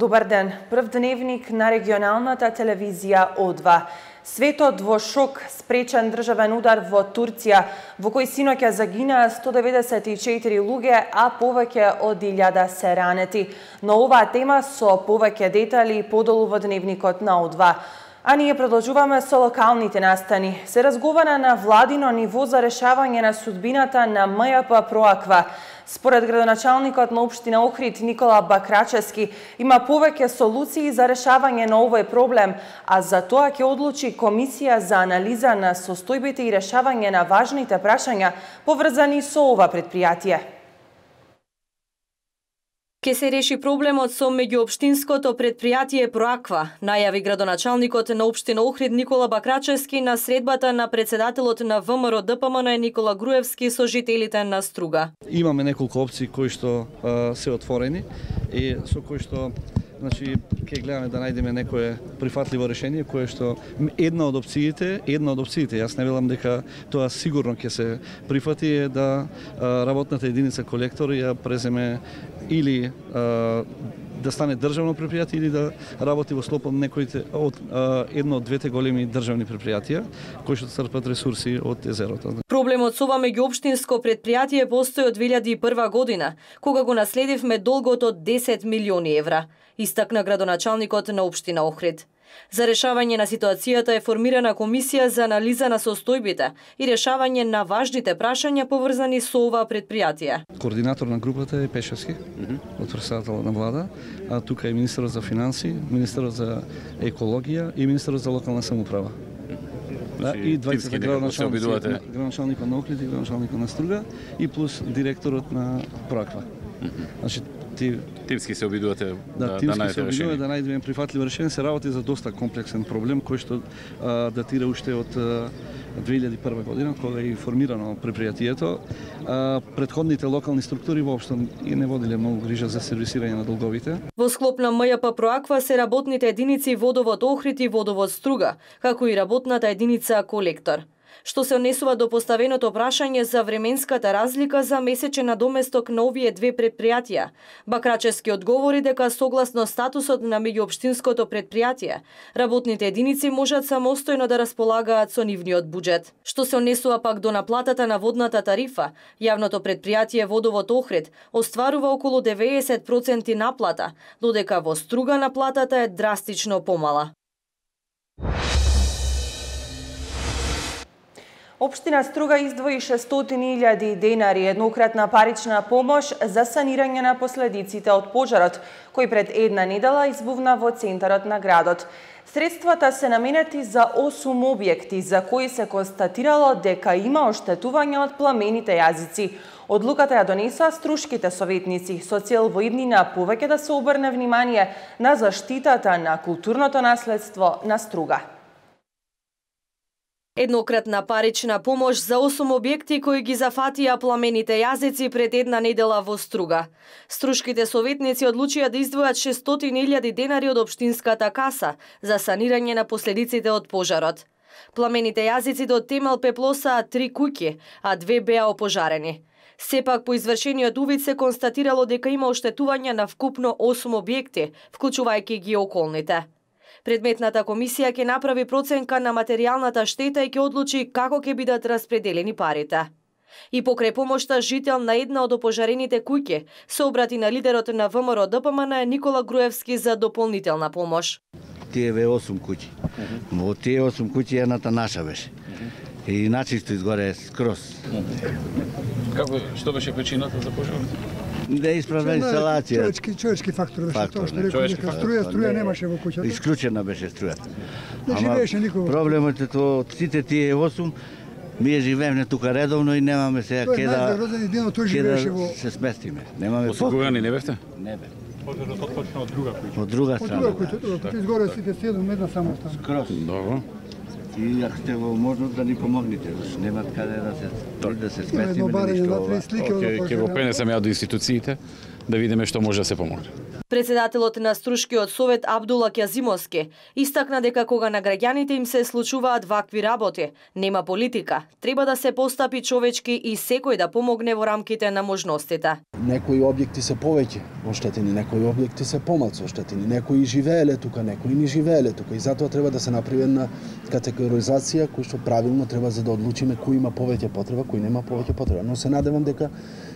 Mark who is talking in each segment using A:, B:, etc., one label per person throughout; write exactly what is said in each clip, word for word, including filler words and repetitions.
A: Добар ден. Прв дневник на регионалната телевизија О два. Светот во шок, спречен државен удар во Турција, во кој синоќа загинаа сто деветдесет и четири луѓе, а повеќе од илјада се ранети. Но оваа тема со повеќе детали подолу во дневникот на О два. А ние продолжуваме со локалните настани. Се разговара на владино ниво за решавање на судбината на М Ј П Проаква. Според градоначалникот на општина Охрид Никола Бакрачевски, има повеќе солуции за решавање на овој проблем, а за тоа ќе одлучи комисија за анализа на состојбите и решавање на важните прашања поврзани со ова предпријатие.
B: Ке се реши проблемот со меѓуопштинското предпријатие Проаква, најави градоначалникот на општина Охрид Никола Бакрачевски на средбата на председателот на В М Р Д П М Н Никола Груевски со жителите на Струга.
C: Имаме неколку опции кои што а, се отворени и со кои што значи ќе гледаме да најдеме некое прифатливо решение кое што една од опциите, една од опциите, јас не велам дека тоа сигурно ќе се прифати е да а, работната единица колектор ја преземе или а, да стане државно предпријатие или да работи во склоп од некоите од а, едно од двете големи државни предпријатија кои што црпат ресурси од езерото.
B: Проблемот со ова меѓуопштинско предпријатие постои од две илјади и прва година, кога го наследивме долгот од десет милиони евра, истакна градоначалникот на општина Охрид. За решавање на ситуацијата е формирана комисија за анализа на состојбите и решавање на важните прашања поврзани со ова предпријатие.
C: Координатор на групата е Пешевски, mm -hmm. од председателот на влада, а тука е министерот за финанси, министерот за екологија и министерот за локална самоуправа. Да, и двајцата градоначалници, градоначалникот на Охрид и градоначалникот на Струга и плюс директорот на Проаква.
D: Mm -hmm.
C: Значи ти
D: тимски се обидувате
C: да,
D: да,
C: тимски
D: да
C: се обидуваме да најдеме прифатливо решение. Се работи за доста комплексен проблем кој што а, датира уште од а, две илјади и прва година кога е формирано предпријатието. А, предходните локални структури воопшто и не водиле многу грижа за сервисирање на долговите.
B: Во склоп на М Ј П Проаква се работните единици Водовод Охрид и Водовод Струга, како и работната единица Колектор. Што се однесува до поставеното прашање за временската разлика за месечен надоместок на овие две предпријатија, Бакрачевски одговори дека согласно статусот на меѓуопштинското предпријатие, работните единици можат самостојно да располагаат со нивниот буџет. Што се однесува пак до наплатата на водната тарифа, јавното предпријатие Водовод Охрид остварува околу деветдесет проценти наплата, додека во Струга наплатата е драстично помала.
A: Општина Струга издвои шестстотини илјади денари еднократна парична помош за санирање на последиците од пожарот, кој пред една недела избувна во центарот на градот. Средствата се наменети за осум објекти, за кои се констатирало дека има оштетување од пламените јазици. Одлуката ја донесоа струшките советници со цел во иднина повеќе да се обрне внимание на заштитата на културното наследство на Струга.
B: Еднократна парична помош за осум објекти кои ги зафатија пламените јазици пред една недела во Струга. Струшките советници одлучија да издвојат шестстотини илјади денари од општинската каса за санирање на последиците од пожарот. Пламените јазици до темел пеплосаа три куќи, а две беа опожарени. Сепак по извршениот увид се констатирало дека има оштетување на вкупно осум објекти, вклучувајќи ги околните. Предметната комисија ќе направи проценка на материјалната штета и ќе одлучи како ќе бидат распределени парите. И покрај помошта жител на една од опожарените куќи се обрати на лидерот на В М Р Д П М Н Никола Груевски за дополнителна помош.
E: Тие бе осум куќи. Во тие осум куќи едната наша беше. И начисто изгоре скроз.
D: Како, што беше причината за пожарот?
E: Да исправна инсталација.
F: Човечки, човечки фактор беше
E: Фактор,
F: тоа што рекол дека струја, струја немаше во куќата.
E: Исклучена беше струјата.
F: Не живееше никој.
E: Проблемот е тоа од сите тие осум ние живееме тука редовно и немаме сега ке да се сместиме. Немаме
D: осигурани не бевте?
E: Не бе.
F: Пожарот отпочна од друга куќа.
E: Од друга страна.
F: Од друга куќа, изгоре сите седум, една само стана.
E: Скроз.
D: Добро.
E: И ако сте во можност да ни помогнете, немат каде да се да се сместиме.
D: Океј, ќе го пренесам ја до институциите да видиме што може да се помогне.
B: Председателот на Струшкиот совет Абдула Кјазимовски истакна дека кога на граѓаните им се случуваат вакви работи, нема политика, треба да се постапи човечки и секој да помогне во рамките на можностите.
G: Некои објекти се повеќе оштетени, некои објекти се помалку оштетени, некои живееле тука, некои не живееле тука и затоа треба да се направи една категоризација кој што правилно треба за да одлучиме кој има повеќе потреба, кој нема повеќе потреба. Но се надевам дека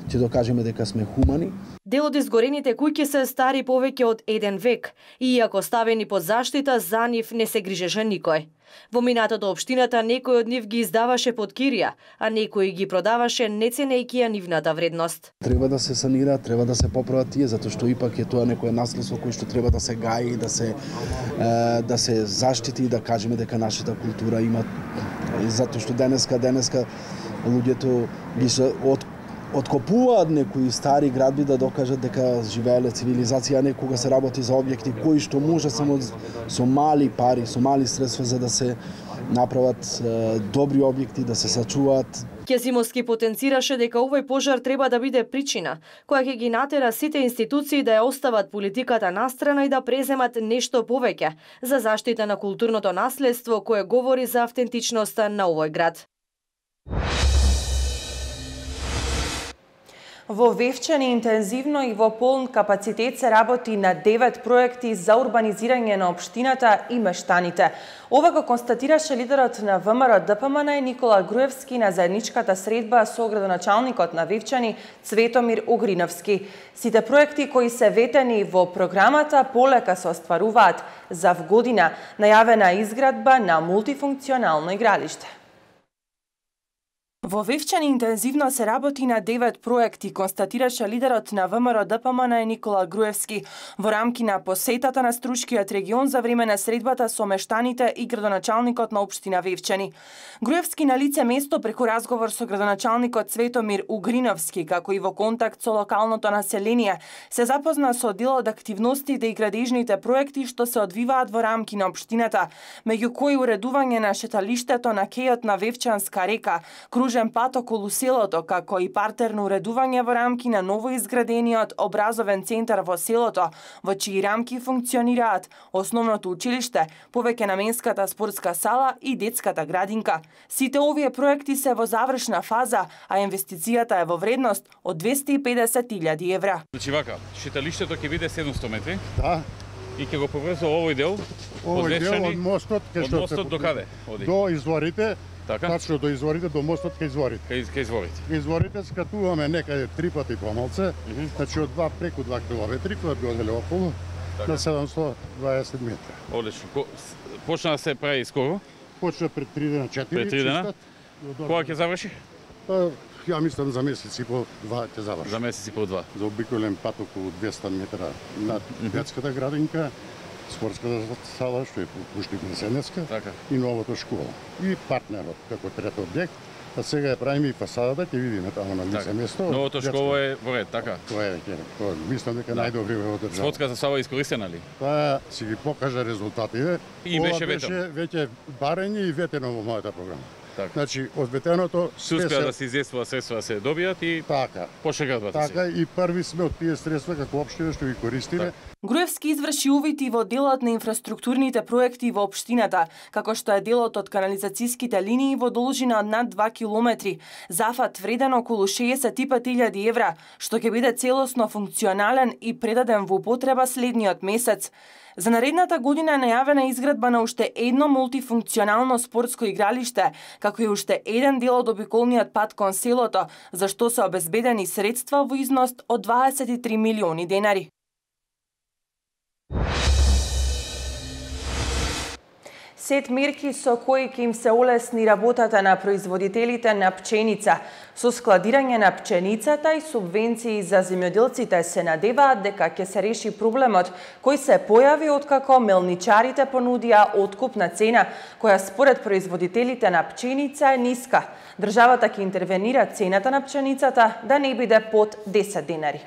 G: ќе докажеме дека сме хумани.
B: Дел од изгорените куќи се стари повеќе од еден век и иако ставени под заштита, за нив не се грижеше никој. Во минатото општината некој од нив ги издаваше под кирија, а некој ги продаваше не ценејќи ја нивната вредност.
G: Треба да се санира, треба да се поправат тие, затоа што ипак е тоа некое наследство кој што треба да се гаи, да се е, да се заштити и да кажеме дека нашата култура има, затоа што денеска денеска луѓето ги се од откопуваат некои стари градби да докажат дека живееле цивилизација, а не кога се работи за објекти кои што може само со мали пари, со мали средства за да се направат е, добри објекти, да се сачуваат.
B: Кјазимовски потенцираше дека овој пожар треба да биде причина, која ќе ги натера сите институции да ја остават политиката настрана и да преземат нешто повеќе за заштита на културното наследство кое говори за автентичноста на овој град.
A: Во Вевчани интензивно и во полн капацитет се работи на девет проекти за урбанизирање на општината и мештаните. Ова го констатираше лидерот на ВМРО Д П М Н Никола Груевски на заедничката средба со градоначалникот на Вевчани Цветомир Угриновски. Сите проекти кои се ветени во програмата полека се остваруваат за вгодина најавена изградба на мултифункционално игралиште. Во Вевчани интензивно се работи на девет проекти, констатираше лидерот на ВМРО Д П М Н Никола Груевски во рамки на посетата на Струшкиот регион за време на средбата со мештаните и градоначалникот на општина Вевчани. Груевски на лице место преку разговор со градоначалникот Цветомир Угриновски, како и во контакт со локалното население, се запозна со дел од активностите и градежните проекти што се одвиваат во рамки на општината, меѓу кои уредување на шеталиштето на кејот на Вевчанска река, кружен пат околу селото, како и партерно уредување во рамки на новоизградениот образовен центар во селото, во чии рамки функционираат основното училиште, повеќе наменската спортска сала и детската градинка. Сите овие проекти се во завршна фаза, а инвестицијата е во вредност од двесте и педесет илјади евра.
D: Значи вака, шеталиштето ќе биде седумсто метри.
H: Да.
D: И ќе го поврзува овој дел.
H: Овој дел од мостот,
D: од мостот до каде? Оди.
H: До изворите.
D: Така?
H: Тачно до изворите, до мостот кај изворите.
D: Кај, кај изворите.
H: Кај изворите скатуваме некаде три пати помалце, mm -hmm. значи од два преку два километри, кога би оделе околу, така. На седумсто дваесет метри.
D: Одлично. Почна да се прави скоро?
H: Почна пред три дена, четири.
D: Пред три дена? Кога ќе заврши?
H: Па, ја мислам за месец и по два ќе заврши.
D: За месец и по два.
H: За обиколен пат околу двесте метра над детската градинка, спортската сала, што е Пушник Несенецка,
D: така.
H: И новото школа. И партнерот, како трет објект. А сега ја правиме и фасадата, ќе видиме таму на лице место.
D: Новото школа е во ред, така?
H: Тоа е, тоа мислам дека да. Најдобри во држава.
D: Спортската сала искористена ли?
H: Тоа си ги покажа резултатите.
D: И беше ветено.
H: Беше веќе барење и ветено во мојата програма.
D: Така.
H: Значи, од ветеното
D: се успеа да се изјествува средства да се добијат и
H: така.
D: Почна градбата
H: така, и први сме од тие средства како општина што ги користиме.
A: Так. Груевски изврши увити во делот на инфраструктурните проекти во општината, како што е делот од канализацијските линии во должина од над два километри, зафат вреден околу шеесет и пет илјади евра, што ќе биде целосно функционален и предаден во употреба следниот месец. За наредната година е најавена изградба на уште едно мултифункционално спортско игралиште, како и уште еден дел од обиколниот пат кон селото, за што се обезбедени средства во износ од дваесет и три милиони денари. Сет мерки со кои ќе им се олесни работата на производителите на пченица. Со складирање на пченицата и субвенции за земјоделците се надеваат дека ќе се реши проблемот кој се појави откако мелничарите понудија откупна цена, која според производителите на пченица е ниска. Државата ќе интервенира цената на пченицата да не биде под десет денари.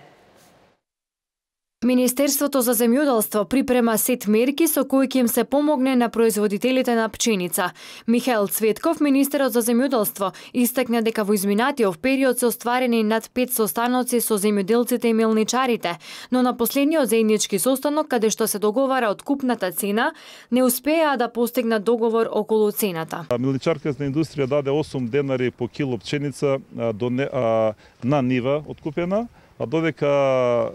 I: Министерството за земјоделство припрема сет мерки со кои ќе им се помогне на производителите на пченица. Михаил Цветков, министерот за земјоделство, истакна дека во изминатиот период се остварени над пет состаноци со земјоделците и мелничарите, но на последниот заеднички состанок, каде што се договара откупната цена, не успеа да постигнат договор околу цената.
J: Мелничарската индустрија даде осум денари по кило пченица до не, а, на нива откупена, а додека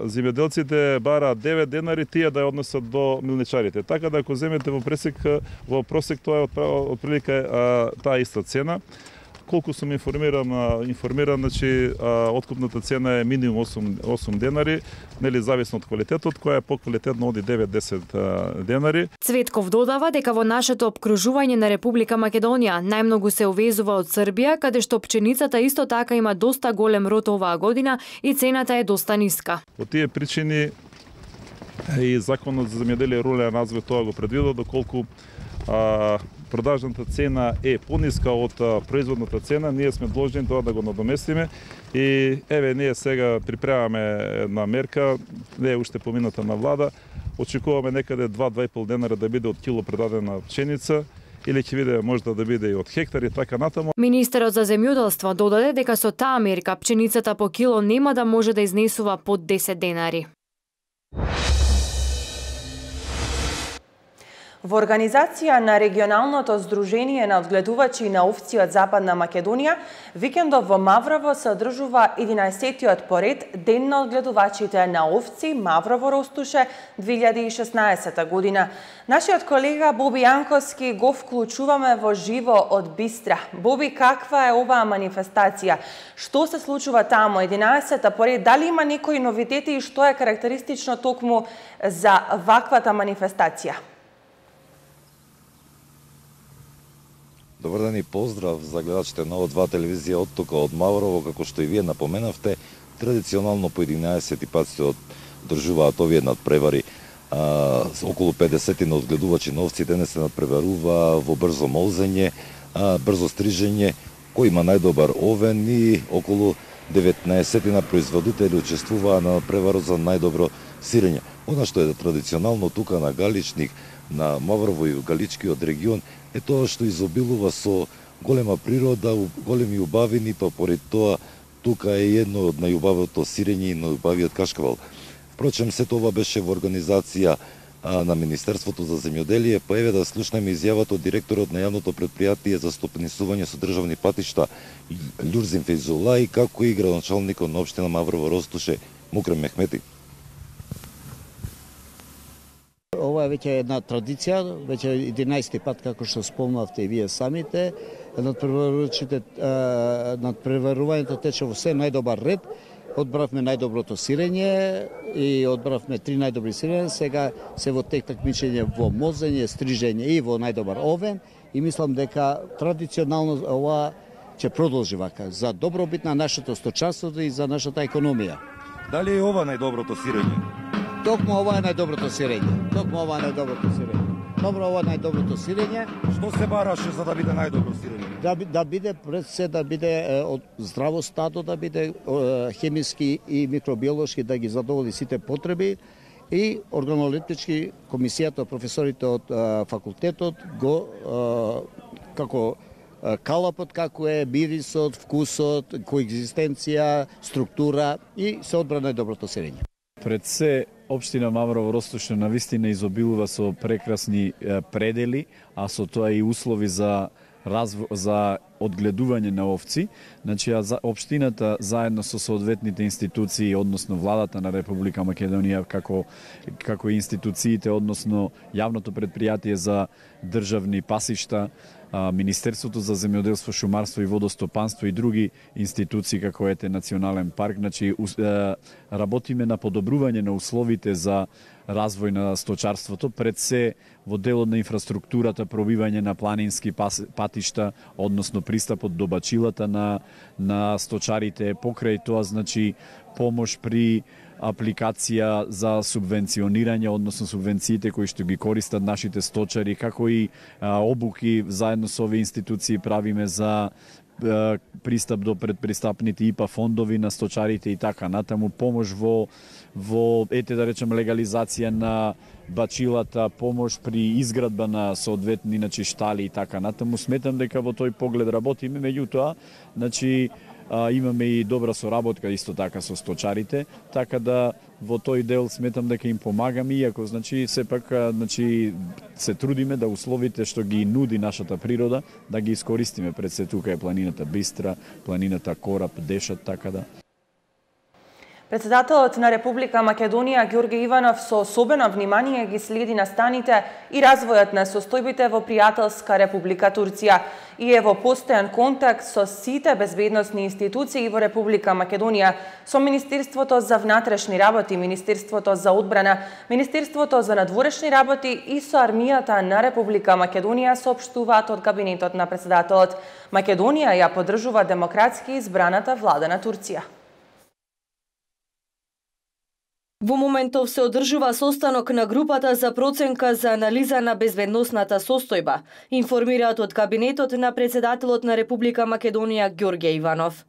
J: земјоделците бараат девет денари, тие да ја однесат до милничарите. Така да ако земете во пресек, во просек тоа е отприлика таа иста цена. Колку сум информиран, информиран, значи откупната цена е минимум осум денари, нели зависно од квалитетот, која е поквалитетно оди девет до десет денари.
I: Цветков додава дека во нашето обкружување на Република Македонија најмногу се увезува од Србија, каде што пченицата исто така има доста голем род оваа година и цената е доста ниска.
J: По тие причини и Законот за земјоделие и рурален развој тоа го предвидува, доколку а, продажната цена е пониска од производната цена, ние сме должни тоа да го надоместиме и еве ние сега припремаме една мерка, не е уште помината на влада, очекуваме некаде два до два и пол денара да биде од кило предадена пченица, или ќе биде можда да биде и од хектари, така натаму.
I: Министерот за земјоделство додаде дека со таа мерка пченицата по кило нема да може да изнесува под десет денари.
A: Во организација на регионалното здружение на одгледувачи на овци од Западна Македонија, викендов во Маврово се одржува единаесеттиот поред Ден на одгледувачите на овци Маврово Ростуше две илјади и шеснаесета година. Нашиот колега Боби Јанковски го вклучуваме во живо од Бистра. Боби, каква е оваа манифестација? Што се случува таму единаесета поред? Дали има некои новитети и што е карактеристично токму за ваквата манифестација?
K: Добар ден и поздрав за гледачите на О два телевизија од тука од Маврово, како што и вие напоменавте, традиционално по единаесети пат се одржуваат овие надпревари. А, околу педесет на одгледувачи на овци денес се надпреварува во брзо молзење, а, брзо стрижење, кој има најдобар овен и околу деветнаесет на производители учествуваа на надпреварот за најдобро сирење. Она што е традиционално тука на Галичник, на Маврово и Галичкиот регион, е тоа што изобилува со голема природа, големи убавини, па поред тоа тука е едно од најубавото сирење и најубавиот кашкавал. Впрочем, се тоа беше во организација а, на Министерството за земјоделие, па еве да слушнеме изјавата од директорот на јавното предпријатие за стопанисување со државни патишта Љурзин Фейзулај, како и градоначалникот на општина Маврово Ростуше Мукрем Мехмети.
L: Ова е веќе една традиција, веќе единаесети пат, како што спомнавте и вие самите. Надпреварувањето тече во се најдобар ред. Одбравме најдоброто сирење и одбравме три најдобри сирење. Сега се во тек такмичење во мозење, стрижење и во најдобар овен. И мислам дека традиционално ова ќе продолжи вака за добробит на нашето сточанство и за нашата економија.
K: Дали е ова најдоброто сирење?
L: Токму ова е најдоброто сирење. Токму ова е најдоброто сирење. Добро, ова е најдоброто сирење.
K: Што се бараше за да биде најдобро сирење?
L: Да, да биде пред се да биде е, од здраво стадо, да биде е, хемиски и микробиолошки да ги задоволи сите потреби и органолептички комисијата, професорите од е, факултетот го е, како е, калапот како е мирисот, вкусот, коегзистенција, структура и се одбра најдоброто сирење.
M: Пред се, општина Маврово Ростуше навистина изобилува со прекрасни предели, а со тоа и услови за разво... за одгледување на овци. Значи, општината заедно со соодветните институции, односно владата на Република Македонија, како како институциите, односно јавното предпријатие за државни пасишта, Министерството за земјоделство, шумарство и водостопанство и други институции како ете Национален парк, значи работиме на подобрување на условите за развој на сточарството, пред се во делот на инфраструктурата, пробивање на планински патишта, односно пристапот до бачилата на на сточарите, покрај тоа значи помош при апликација за субвенционирање, односно субвенциите кои што ги користат нашите сточари, како и а, обуки заедно со овие институции правиме за пристап до предпристапните ИПА фондови на сточарите и така натаму, помош во во ете да речем легализација на бачилата, помош при изградба на соодветни значи штали и така натаму. Сметам дека во тој поглед работиме, меѓутоа, значи а, имаме и добра соработка исто така со сточарите, така да во тој дел сметам дека им помагаме, иако значи сепак значи се трудиме да условите што ги нуди нашата природа да ги искористиме. Пред се тука е планината Бистра, планината Кораб, Дешат, така да.
A: Председателот на Република Македонија Ѓорѓе Иванов со особено внимание ги следи настаните и развојот на состојбите во пријателска Република Турција и е во постојан контакт со сите безбедносни институции во Република Македонија, со Министерството за внатрешни работи, Министерството за одбрана, Министерството за надворешни работи и со армијата на Република Македонија, соопштуваат од кабинетот на председателот. Македонија ја поддржува демократски избраната влада на Турција.
B: Во моментов се одржува состанок на групата за проценка за анализа на безбедносната состојба, информираат од кабинетот на председателот на Република Македонија Ѓорѓе Иванов.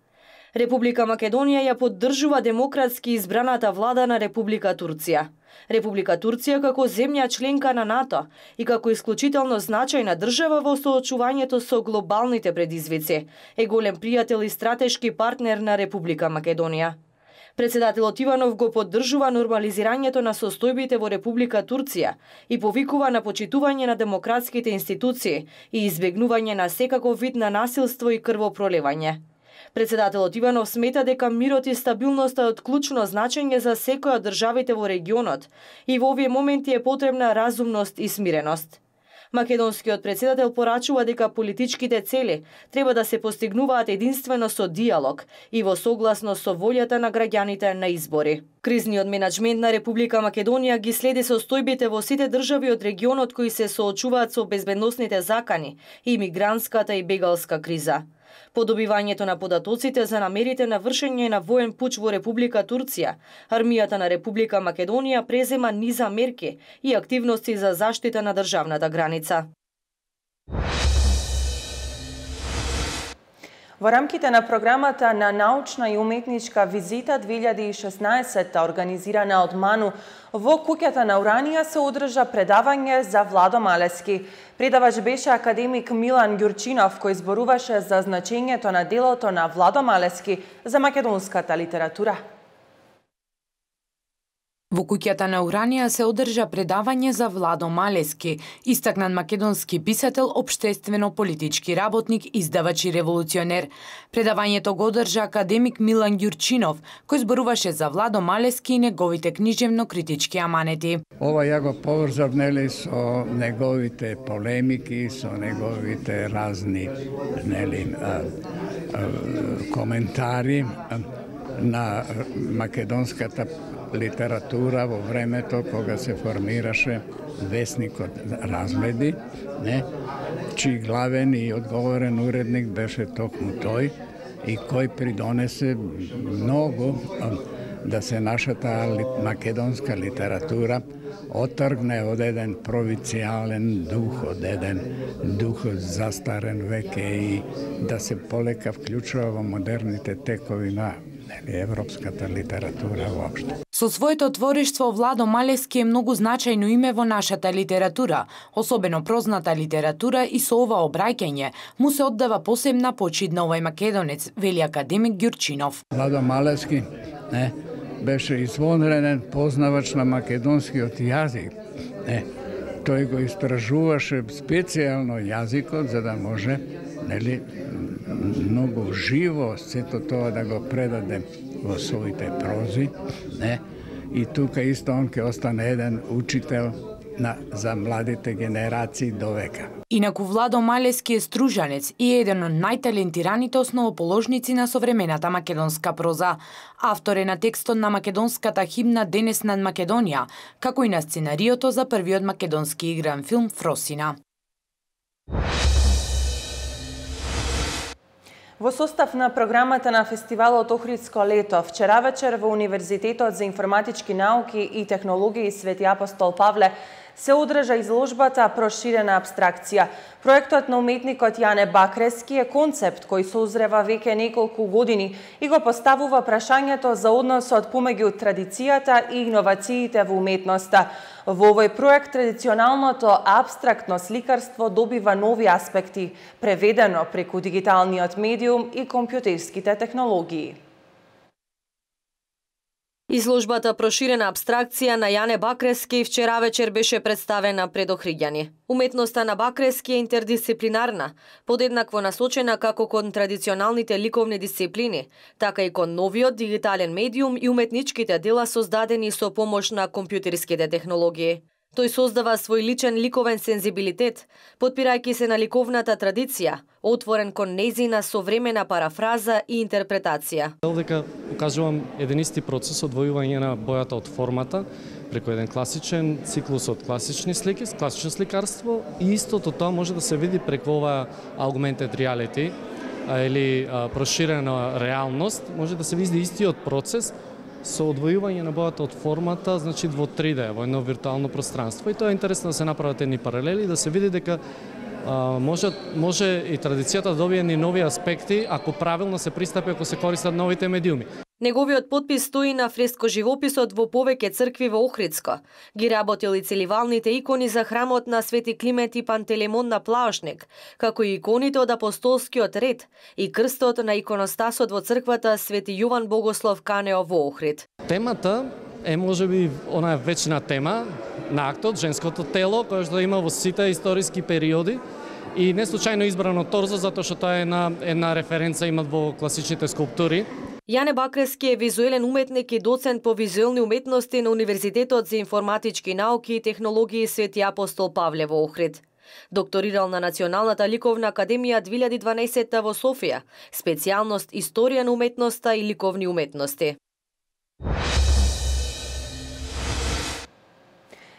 B: Република Македонија ја поддржува демократски избраната влада на Република Турција. Република Турција како земја членка на НАТО и како исклучително значајна држава во соочувањето со глобалните предизвици е голем пријател и стратешки партнер на Република Македонија. Председателот Иванов го поддржува нормализирањето на состојбите во Република Турција и повикува на почитување на демократските институции и избегнување на секаков вид на насилство и крвопроливање. Председателот Иванов смета дека мирот и стабилноста е од клучно значење за секоја од државите во регионот и во овие моменти е потребна разумност и смиреност. Македонскиот председател порачува дека политичките цели треба да се постигнуваат единствено со диалог и во согласност со волјата на граѓаните на избори. Кризниот менеджмент на Република Македонија ги следи состојбите во сите држави од регионот кои се соочуваат со безбедносните закани и мигрантската и бегалска криза. По добивањето на податоците за намерите на вршење на воен пуч во Република Турција, армијата на Република Македонија презема низа мерки и активности за заштита на државната граница.
A: Во рамките на програмата на научна и уметничка визита две илјади и шеснаесетта, организирана од МАНУ, во куќата на Уранија се одржа предавање за Владо Малески. Предавач беше академик Милан Ѓурчинов, кој зборуваше за значењето на делото на Владо Малески за македонската литература.
N: Во куќата на Уранија се одржа предавање за Владо Малески, истакнат македонски писател, општествено-политички работник, издавач и револуционер. Предавањето го одржа академик Милан Ѓурчинов, кој зборуваше за Владо Малески и неговите книжевно-критички аманети.
O: Ова ја го поврзав нели со неговите полемики, со неговите разни нели а, а, коментари а, на македонската литература во времето кога се формираше весникот Разгледи, не, чиј главен и одговорен уредник беше токму тој и кој придонесе многу да се нашата македонска литература отргне од еден провинцијален дух, од еден дух застарен веќе и да се полека вклучува во модерните текови на европската литература воопшто.
N: Со своето творештво Владо Малески е многу значајно име во нашата литература, особено прозната литература, и со ова обраќање му се оддава посебна почит на овој македонец, вели академик Ѓурчинов.
O: Владо Малески не, беше извонреден познавач на македонскиот јазик. Не, тој го истражуваше специјално јазикот за да може нели многу живо сето тоа да го предаде во своите прози, не? И тука исто он ќе остане еден учител на за младите генерации до века.
N: Инаку Владо Малески е стружанец и е еден од најталентираните основоположници на современата македонска проза. Автор е на текстот на македонската химна Денес над Македонија, како и на сценариото за првиот македонски игран филм Фросина.
A: Во состав на програмата на фестивалот Охридско лето, вчера вечер во Универзитетот за информатички науки и технологии Свети Апостол Павле се одржа изложбата Проширена абстракција. Проектот на уметникот Јане Бакрески е концепт кој созрева веќе неколку години и го поставува прашањето за односот помеѓу традицијата и иновациите во уметноста. Во овој проект традиционалното абстрактно сликарство добива нови аспекти, преведено преку дигиталниот медиум и компјутерските технологии.
B: Изложбата Проширена абстракција на Јане Бакрески вчера вечер беше представена пред Охриѓани. Уметноста на Бакрески е интердисциплинарна, подеднакво насочена како кон традиционалните ликовни дисциплини, така и кон новиот дигитален медиум и уметничките дела создадени со помош на компјутерските технологии. Тој создава свој личен ликовен сензибилитет, потпирајќи се на ликовната традиција, отворен кон нејзина современа парафраза и интерпретација.
P: Дека покажувам еден исти процес одвојување на бојата од формата преку еден класичен циклус од класични слики, класично сликарство, и истото тоа може да се види преку ова augmented reality или проширена реалност, може да се види истиот процес со одвојување на бојата од формата, значи во три Д, во едно виртуално пространство. И тоа е интересно да се направат едни паралели, да се види дека а, може, може и традицијата да добие ни нови аспекти ако правилно се пристапи, ако се користат новите медиуми.
B: Неговиот подпис стои на фреско-живописот во повеќе цркви во Охридско. Ги работил и целивалните икони за храмот на Свети Климент и Пантелеймон на Плаошник, како и иконите од апостолскиот ред и крстот на иконостасот во црквата Свети Јован Богослов Канео во Охрид.
P: Темата е можеби онаа вечна тема на актот, женското тело, која што има во сите историски периоди. И не случајно избрано торзо, затоа што тоа е една, една референца имат во класичните скулптури.
B: Јане Бакрески е визуелен уметник и доцент по визуелни уметности на Универзитетот за информатички науки и технологии Свети Апостол Павле во Охрид. Докторирал на Националната ликовна академија две илјади и дванаесетта во Софија, специјалност Историја на уметноста и ликовни уметности.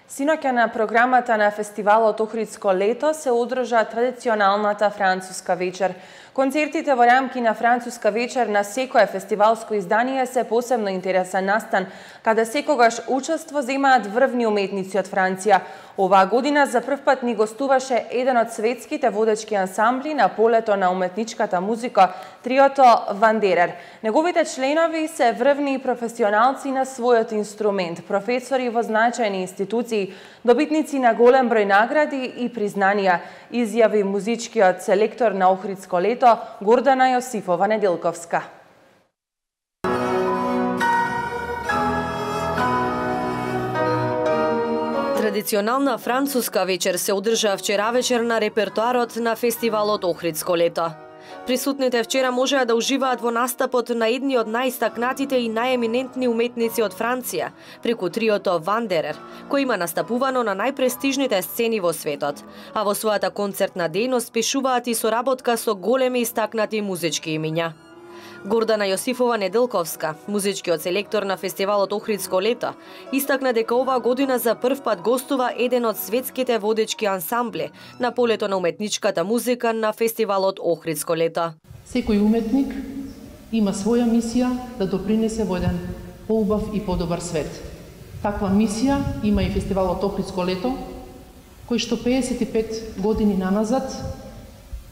A: Синоќа на програмата на фестивалот Охридско лето се одржа традиционалната француска вечер. Концертите во рамки на француска вечер на секое фестивалско издание се посебно интересен настан, каде секогаш учество земаат врвни уметници од Франција. Оваа година за прв пат ни гостуваше еден од светските водечки ансамбли на полето на уметничката музика, триото Вандерер. Неговите членови се врвни и професионалци на својот инструмент, професори во значајни институции, добитници на голем број награди и признанија, изјави музичкиот селектор на Охридско лето Гордана Јосифова Неделковска.
B: Традиционална француска вечер се одржа вчера вечер на репертоарот на фестивалот Охридско лето. Присутните вчера можеа да уживаат во настапот на едни од најстакнатите и најеминентни уметници од Франција, преку триото Вандерер, кој има настапувано на најпрестижните сцени во светот, а во својата концертна дејност пишуваат и соработка со големи истакнати музички имиња. Гордана Јосифова Неделковска, музичкиот селектор на фестивалот Охридско лето, истакна дека оваа година за прв пат гостува еден од светските водечки ансамбли на полето на уметничката музика на фестивалот Охридско лето.
Q: Секој уметник има своја мисија да допринесе во еден поубав и подобар свет. Таква мисија има и фестивалот Охридско лето, кој што пеесет и пет години наназад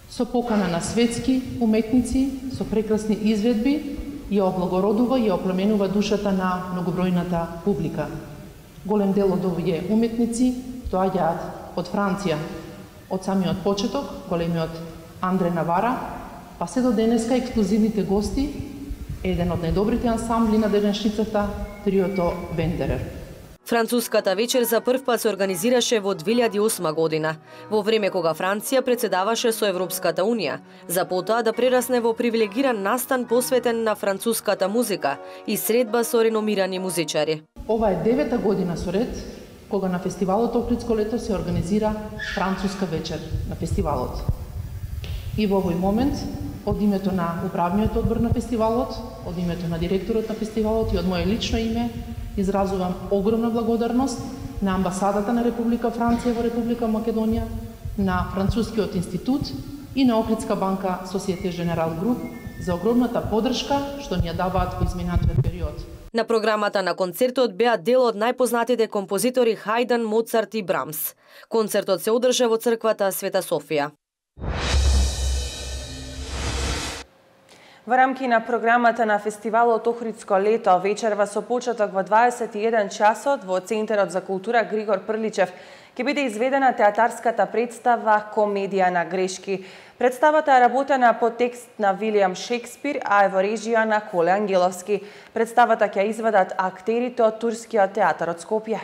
Q: со покана на светски уметници, со прекрасни изведби, ја облагородува и ја оплеменува душата на многобројната публика. Голем дел од овие уметници доаѓаат од Франција, од самиот почеток, големиот Андре Навара, па се до денеска ексклузивните гости, еден од најдобрите ансамбли на денешницата, триото Вандерер.
B: Француската вечер за прв пат се организираше во две илјади и осма година, во време кога Франција председаваше со Европската Унија, за потоа да прерасне во привилегиран настан посветен на француската музика и средба со реномирани музичари.
Q: Ова е девета година со ред кога на фестивалот Охридско лето се организира француска вечер на фестивалот. И во овој момент, од името на управниот одбор на фестивалот, од името на директорот на фестивалот и од моје лично име, изразувам огромна благодарност на амбасадата на Република Франција во Република Македонија, на Францускиот институт и на Охридска банка Societe Generale Group за огромната поддршка што ни ја даваат во изминатиот период.
B: На програмата на концертот беа дел од најпознатите композитори Хајден, Моцарт и Брамс. Концертот се одржа во црквата Света Софија.
A: Во рамки на програмата на фестивалот Охридско лето, вечерва со почеток во дваесет и еден часот во Центарот за култура Григор Прличев ќе биде изведена театарската представа Комедија на грешки. Представата е работена по текст на Вилијам Шекспир, а е во режија на Коле Ангеловски. Представата ќе изведат актерите од Турскиот театар од Скопје.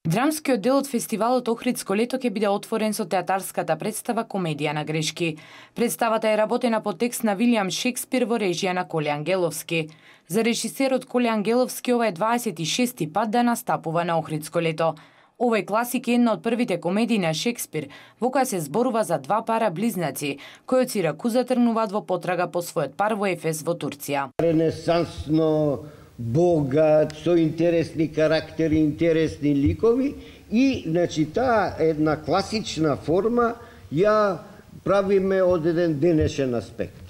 N: Драмскиот дел од фестивалот Охридско лето ќе биде отворен со театарската представа Комедија на грешки. Представата е работена по текст на Вилијам Шекспир во режија на Коле Ангеловски. За режисерот Коле Ангеловски ова е дваесет и шести пат да настапува на Охридско лето. Овој класик е една од првите комедии на Шекспир, во која се зборува за два пара близнаци, кои од Сиракуза тргнуваат во потрага по својот пар во Ефес во Турција.
R: Ренесансно, богат, со интересни карактери, интересни ликови и, значи, таа една класична форма ја правиме од еден денешен аспект.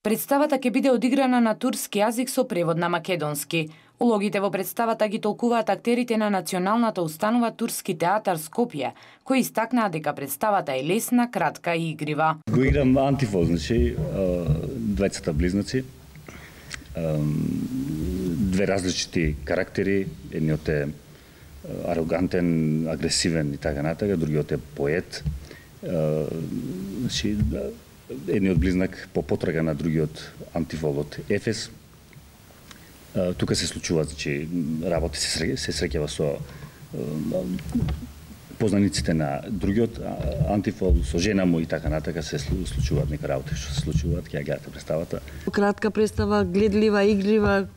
N: Представата ќе биде одиграна на турски јазик со превод на македонски. Улогите во представата ги толкуваат актерите на Националната установа Турски театар Скопје, кои истакнаа дека представата е лесна, кратка и игрива.
S: Го играм Антифол, значи двајцата близнаци, две различити карактери, едниот е арогантен, агресивен и така натака, другиот е поет. Значи едниот близнак по потрага на другиот Антифол од Ефес. Тука се случуваат, значи, работи се, се среќава со познаниците на другиот Антифол, со жена му и така натака се случуваат нека работи што се случуваат, ќе ја гледате представата.
T: Кратка представа, гледлива, игрива.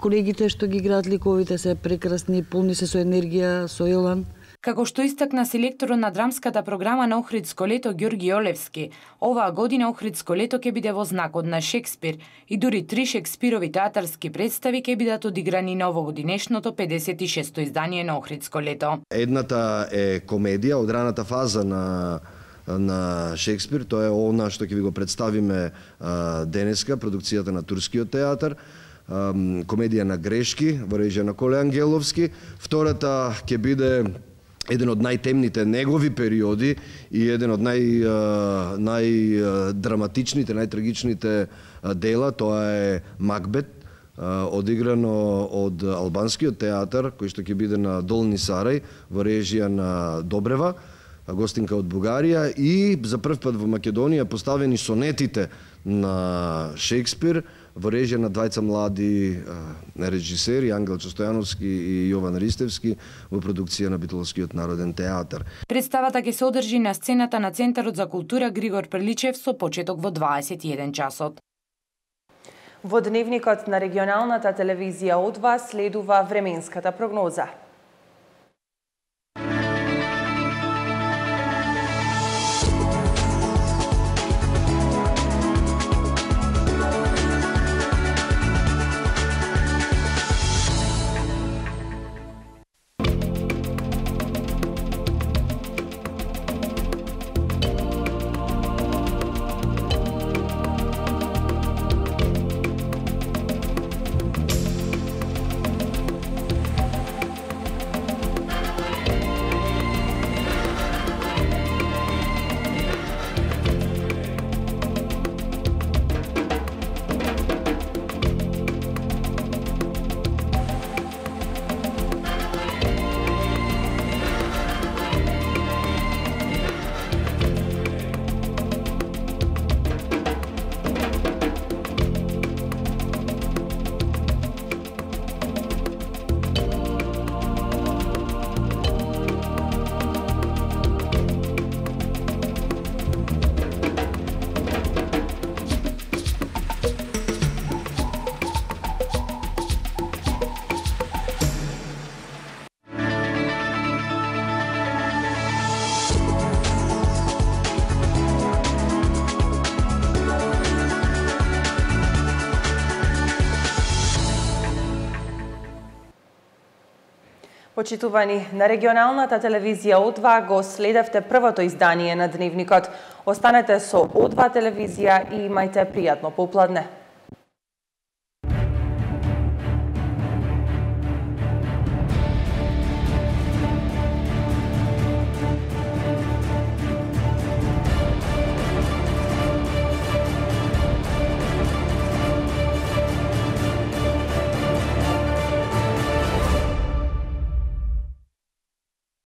T: Колегите што ги играат ликовите се прекрасни, полни се со енергија, со елан.
N: Како што истакна селекторот на драмската програма на Охридско лето Ѓорги Олевски, оваа година Охридско лето ќе биде во знакот на Шекспир и дури три Шекспирови театарски представи ќе бидат одиграни на овогодинешното педесет и шесто издание на Охридско лето.
U: Едната е комедија од раната фаза на на Шекспир, тоа е она што ќе ви го представиме а, денеска, продукцијата на Турскиот театар. А, комедија на грешки во режија на Коле Ангеловски. Втората ќе биде еден од најтемните негови периоди и еден од нај, најдраматичните, најтрагичните дела, тоа е Макбет, одиграно од албанскиот театар, кој што ќе биде на Долни Сарај, во режија на Добрева, гостинка од Бугарија, и за прв пат во Македонија поставени сонетите на Шекспир, во режија на двајца млади режисери, Ангел Чостојановски и Јован Ристевски, во продукција на Битолскиот народен театар.
N: Представата ќе се одржи на сцената на Центарот за култура Григор Прличев со почеток во дваесет и еден часот.
A: Во дневникот на регионалната телевизија од вас следува временската прогноза. Почитувани, на регионалната телевизија О два го следевте првото издание на Дневникот. Останете со О два телевизија и имајте пријатно попладне.